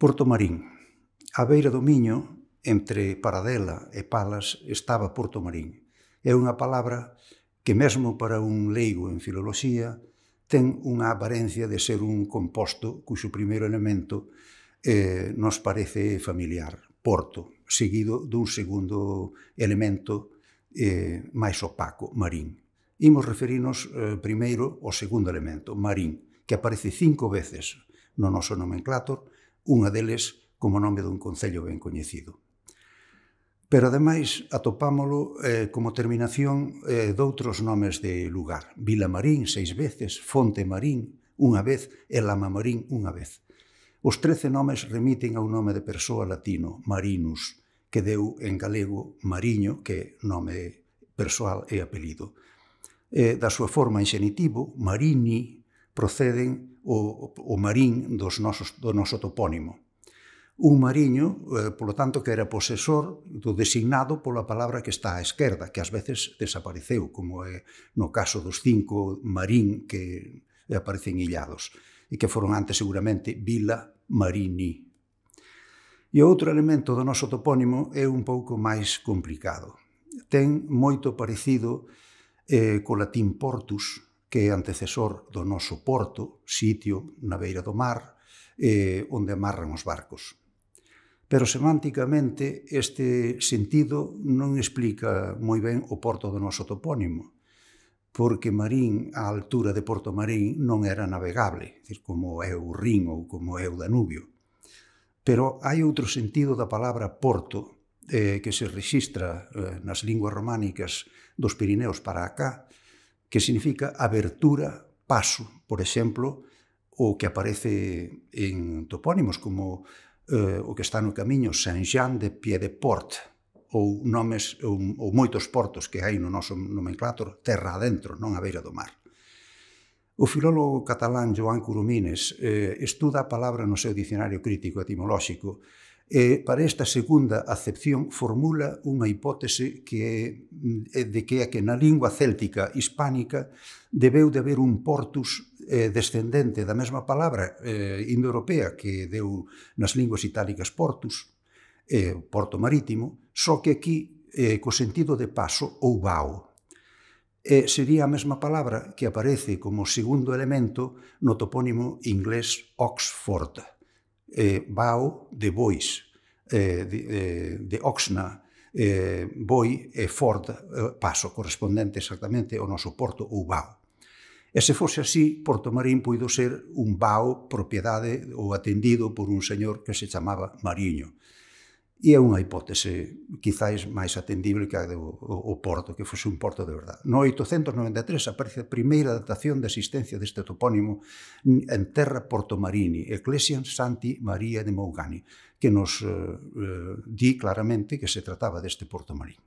Portomarín. Á beira do Miño, entre Paradela e Palas, estaba Portomarín. É unha palabra que mesmo para un leigo en filoloxía ten unha aparencia de ser un composto cuxo primeiro elemento nos parece familiar, porto, seguido dun segundo elemento máis opaco, marín. Imos referirnos primeiro ao segundo elemento, marín, que aparece 5 veces no noso nomenclátor, unha deles como nome dun concello ben coñecido. Pero, ademais, atopámolo como terminación doutros nomes de lugar. Vilamarín 6 veces, Fontemarín unha vez e Lamamarín unha vez. Os 13 nomes remiten a un nome de persoa latino, Marinus, que deu en galego Mariño, que é nome persoal e apelido. Da súa forma en xenitivo, Marini, proceden o marín do noso topónimo. Un mariño, polo tanto, que era posesor do designado pola palabra que está á esquerda, que ás veces desapareceu, como é no caso dos 5 marín que aparecen illados, e que foron antes seguramente Vila Marini. E o outro elemento do noso topónimo é un pouco máis complicado. Ten moito parecido co latín portus, que é antecesor do noso porto, sitio na beira do mar, onde amarran os barcos. Pero semánticamente este sentido non explica moi ben o porto do noso topónimo, porque Marín, á altura de Portomarín, non era navegable, como é o Rin ou como é o Danubio. Pero hai outro sentido da palabra porto que se rexistra nas linguas románicas dos Pirineos para acá, que significa abertura, paso. Por exemplo, o que aparece en topónimos como o que está no camiño, Saint-Jean-de-Pied-de-Port, ou moitos portos que hai no noso nomenclátor terra adentro, non á beira do mar. O filólogo catalán Joan Coromines estuda a palabra no seu dicionario crítico etimolóxico e para esta segunda acepción formula unha hipótese de que é que na lingua céltica hispánica debeu de haber un portus descendente da mesma palabra indoeuropea que deu nas linguas itálicas portus, porto marítimo, só que aquí co sentido de paso ou vao. Sería a mesma palabra que aparece como segundo elemento no topónimo inglés Oxford, vao de bois, de oxna, boi e ford, paso, correspondente exactamente ao noso porto ou vao. E se fose así, Portomarín puido ser un vao propiedade ou atendido por un señor que se chamaba Mariño. E é unha hipótese quizáis máis atendible que a do porto, que fose un porto de verdade. No 893 aparece a primeira datación de existencia deste topónimo en terra Portomarini, Ecclesiam Sancti Maria de Mougani, que nos di claramente que se trataba deste Portomarín.